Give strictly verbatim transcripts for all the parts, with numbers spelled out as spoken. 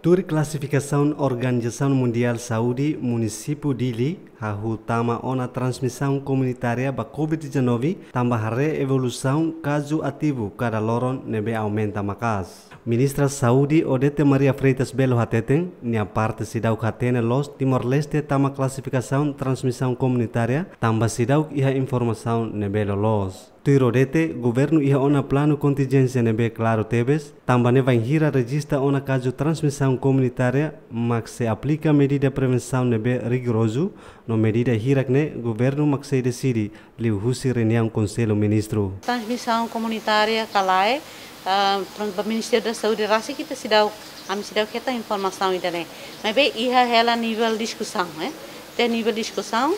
Tuir klasifikasaun Organizasaun Mundiál Saúde, munisípiu Dili hahú tama ona transmisaun komunitária ba COVID dezanove, tanba haree evolusaun kazu ativu kada loron ne'ebé aumenta maka'as. Ministra Saúde Odete Maria Freitas Belo hateten, nia parte seidauk hatene loos Timor-Leste tama klasifikasaun transmisaun komunitária, tanba seidauk iha informasaun ne'ebé loloos. Tuir Odete, governu iha ona planu kontinjénsia ne'ebé klaru tebes, tanba ne'e bainhira rejista ona kazu transmisaun komunitária, mak sei aplika medida prevensaun ne'ebé rigorozu, no medida hirak-ne'e governu mak sei deside liuhusi reuniaun Konsellu Ministru. Transmisaun komunitária ka lae, ah, prontu, ba Ministériu da Saúde rasik ita seidauk, ami seidauk hetan informasaun ida-ne'e. Maibé iha hela nivel diskusaun, eh. Iha nivel diskusaun,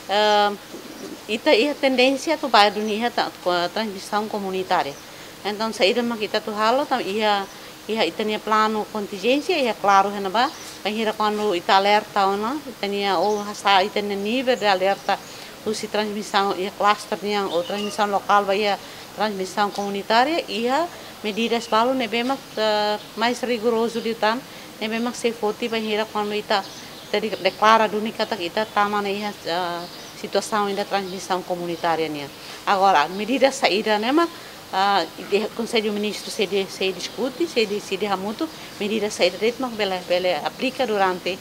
ah, ita iha tendénsia atu ba duni iha ta-, ko-, transmisaun komunitária. Entaun, saida mak ita atu halo, tanba iha, iha ita-nia planu kontinjénsia, iha klaru iha ne'ebá, bainhira kuandu ita alerta ona, ita-nia, ou hasa'e ita-nia nivel de alerta, husi transmisaun iha kluster nian, ou transmisaun lokál ba iha transmisaun komunitária, iha medidas balu ne'ebé mak, eh, mais rigorozu liután, ne'ebé mak sei foti bainhira kuandu ita, ita de-, deklara duni katak ita tama ona iha, eh, situasaun ida transmisaun komunitária nian. Agora, medida saida ne'e mak, ah, de-, Konsellu Ministru sei de-, sei diskute, sei deside hamutuk, medida saida de'it mak bele, bele aplika durante,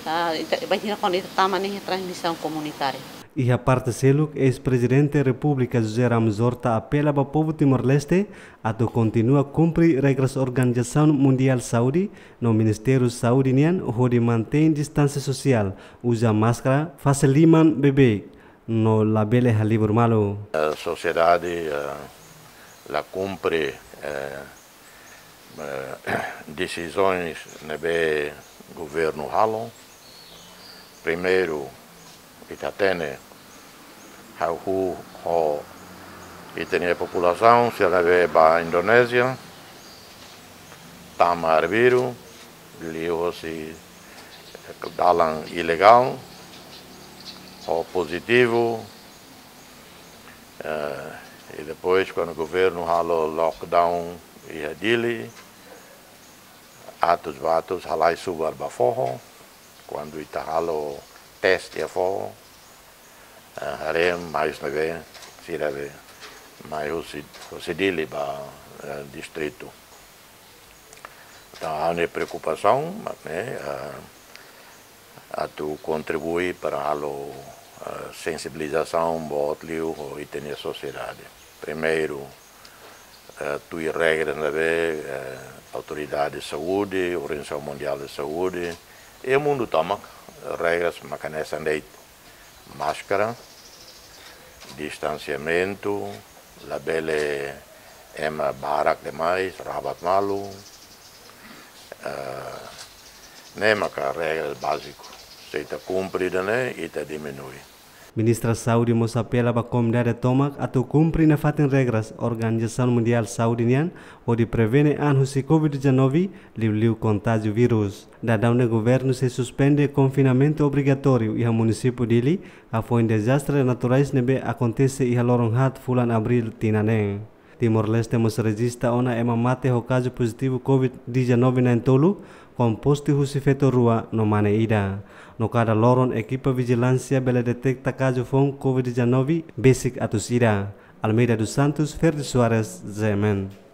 ah, ita, bainhira kuandu ita tama ona iha transmisaun komunitária. Iha parte seluk, eis-Prezidente Repúblika José Ramos Horta apela ba povu Timor-Leste atu kontinua kumpre regras Organizasaun Mundiál Saúde no Ministériu Saúde nian hodi mantein distánsia sosiál, uza máskara, fase liman beibeik, no labele halibur malu. Eh, sosiedade, eh, la kumpre, eh, eh, desizaun ne'ebé governu halo. Primeiru, ita hatene, hahú ho ita-nia populasaun sira ne'ebé ba Indonézia, tama arbiru, liuhosi dalan ilegál, ho pozitivu, eh, i depois, kuandu governu halo lockdown iha Dili, atus ba atus halai subar ba foho, kuandu ita halo teste iha foho, eh, haree mai husi ne'ebé sira be mai husi, husi Dili ba, eh, distritu. Entaun, ha'u-nia preokupasaun, mak ne'e, eh, atu kontribui para halo, eh, sensibilizasaun boot liu ho ita-nia sosiedade. Primeiru, eh, tuir regras ne'ebé, eh, autoridade saúde, Organizasaun Mundiál de Saúde, i mundu tomak, regras mak hanesan de'it. Máskara, distansiamentu, labele ema barak demais, rabat malu, eh, ne'e maka regras báziku. Se ita kumpre ida-ne'e, ita diminui. Ministra Saúde mós apela ba komunidade tomak atu kumpre nafatin regras Organizasaun Mundiál Saúde nian, hodi prevene an husi COVID dezanove, liuliu kontájiu vírus. Daudaun ne'e governu sei suspende konfinamentu obrigatóriu iha munisípiu Dili, hafoin dezastre naturais ne'ebé akontese iha loron haat fulan Abríl tinan ne'e. Timor-Leste mós rejista ona ema mate ho kazu pozitivu COVID dezanove na'in-tolu, kompostu husi feto rua no mane ida. No kada loron ekipa vijilánsia bele deteta kazu foun COVID dezanove besik atus ida. Almeida dos Santos, Ferdi Soares, Z M N.